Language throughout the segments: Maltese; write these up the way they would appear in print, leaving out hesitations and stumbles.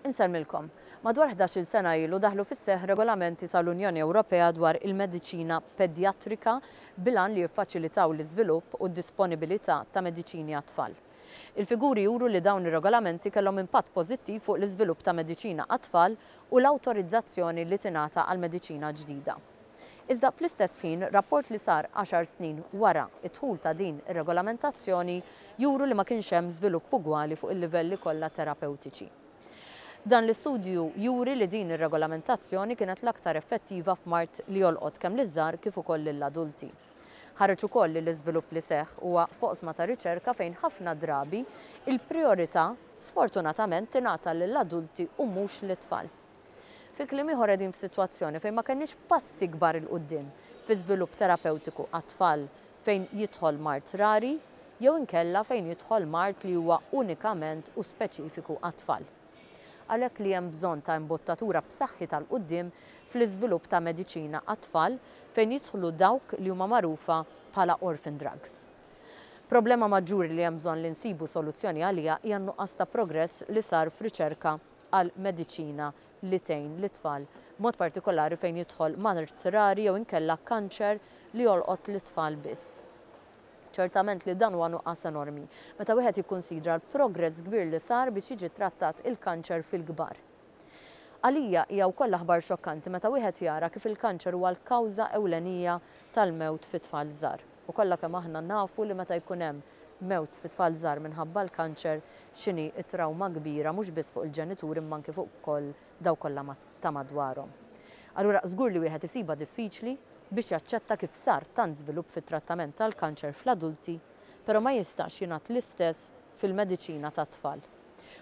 Insellmilkom. Madwar 11-il sena ilu daħlu fis-seħħ regolamenti tal-Unjoni Ewropea dwar il-mediċina pedjatrika bil-għan li jiffaċilitaw l-iżvilupp u d-disponibilità ta' mediċini għat-tfal. Il-figuri juru li dawn ir-regolamenti kellhom impatt pożittiv fuq l-iżvilupp ta' mediċina għat-tfal u l-awtorizzazzjoni li tingħata għal mediċina ġdida. Iżda fl-istess ħin, rapport li sar għaxar snin wara d-dħul ta' din ir-regolamentazzjoni juru li ma kienx hemm żvilupp ugwali fuq il-livelli kollha terapewtiċi. Dan l-istudju juri li din ir-regolamentazzjoni kienet l-aktar effettiva f'mard li jolqot kemm liż-żgħar kif ukoll lill-adulti. Ħareġ ukoll li l-iżvilupp li seħħ huwa f'oqsma ta' riċerka fejn ħafna drabi il-prijorità sfortunatament tingħata lill-adulti u mhux lit-tfal. Fi kliem ieħor qegħdin f'sitwazzjoni fejn ma kenniex passi kbar 'il quddiem fi żvilupp terapewtiku għat-tfal fejn jidħol mard rari jew inkella fejn jidħol mard li huwa unikament u speċifiku għat-tfal. Għalhekk li hemm bżonn ta' imbottatura b'saħħitha 'l quddiem fl-iżvilupp ta' mediċina għat-tfal fejn jidħlu dawk li huma magħrufa bħala orphan drugs. Problema maġġuri li hemm bżonn li nsibu soluzzjoni għaliha hija n-nuqqas ta' progress li sar f'riċerka għal mediċina li tgħin lit-tfal, b'mod partikolari fejn jidħol mard rari jew inkella kanċer li jolqot lit-tfal biss. Ċertament li dan huwa nuqqas enormi, meta wieħed jikkunsidra l-progress kbir li sar biex jiġi trattat il-kanċer fil-kbar. Għalija hija wkoll aħbar xokkanti meta wieħed jara kif il-kanċer huwa l-kawża ewlenija tal-mewt fi tfal żgħar. U kollha kemm aħna nafu li meta jkun hemm mewt fi tfal żgħar minħabba l-kanċer x'inhi t-trawma kbira mhux biss fuq il-ġenituri imma anki fuq ukoll dawk kollha ta' madwarhom. Allura żgur li wieħed isibha diffiċli biex jaċċetta kif sar tant żvilupp fit-trattament tal-kanċer fl-adulti però ma jistax jingħad l-istess fil-mediċina tat-tfal.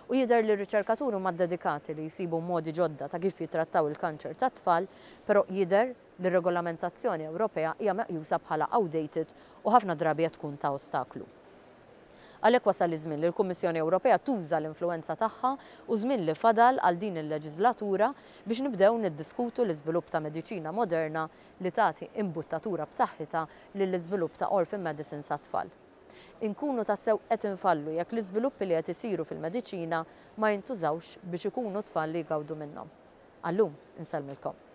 U jidher li r-riċerkaturi huma ddedikati li jsibu modi ġodda ta' kif jittrattaw il-kanċer tat-tfal però jidher li r-regolamentazzjoni Ewropea hija meqjusa bħala outdated u ħafna drabi qed tkun ta' ostaklu. Għalhekk wasal iż-żmien li l-Kummissjoni Ewropea tuża l-influwenza tagħha u żmien li fadal għal din il-leġiżlatura biex nibdew niddiskutu l-iżvilupp ta' mediċina moderna li tagħti imbuttatura b'saħħitha lill-iżvilupp ta' orphan medicines għat-tfal. Inkunu tassew qed infallu jekk l-iżviluppi li qed isiru fil-mediċina ma jintużawx biex ikunu t-tfal li jgawdu minnhom. Għal-lum, insellmilkom.